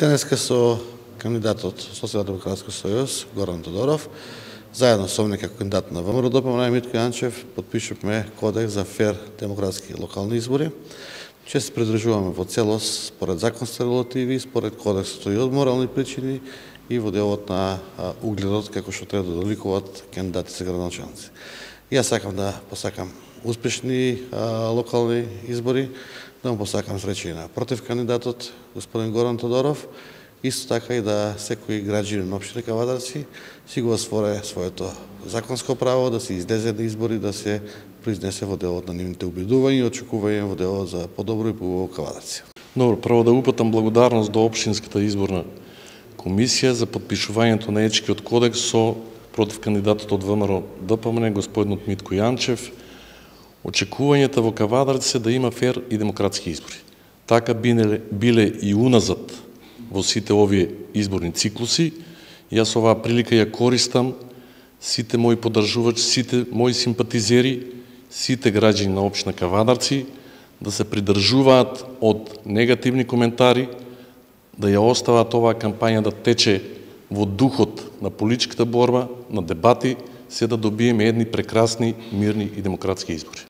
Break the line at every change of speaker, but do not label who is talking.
Денеска со кандидатот Социјалдемократски сојуз Горан Тодоров, заедно со мене како кандидат на ВМРО ДПМН Митко Јанчев, подпишувме кодекс за фер демократски локални избори. Че се придржуваме во целост според законски регулативи, според кодексот и од морални причини и во делот на угледот како што треба да доликуваат кандидати за градоначалници. Јас сакам да посакам успешни локални избори, да му посакам среќа и на против кандидатот господин Горан Тодоров, исто така и да секој граѓанин на општина Кавадарци си го осворе своето законско право да се излезе на избори, да се произнесе во делот на нивните убедувања и очекувања во делот за подобро и поубаво Кавадарци.
Добро, прво да упатам благодарност до Општинската изборна комисија за подпишувањето на етичкиот кодекс со против кандидатот од ВМРО ДПМН господинот Митко Јанчев. Очекувањата во Кавадарци се да има фер и демократски избори. Така биле и уназад во сите овие изборни циклуси. Јас оваа прилика ја користам сите мои поддржувачи, сите мои симпатизери, сите граѓани на општина Кавадарци да се придржуваат од негативни коментари, да ја остават оваа кампања да тече во духот на политичката борба, на дебати, се да добиеме едни прекрасни, мирни и демократски избори.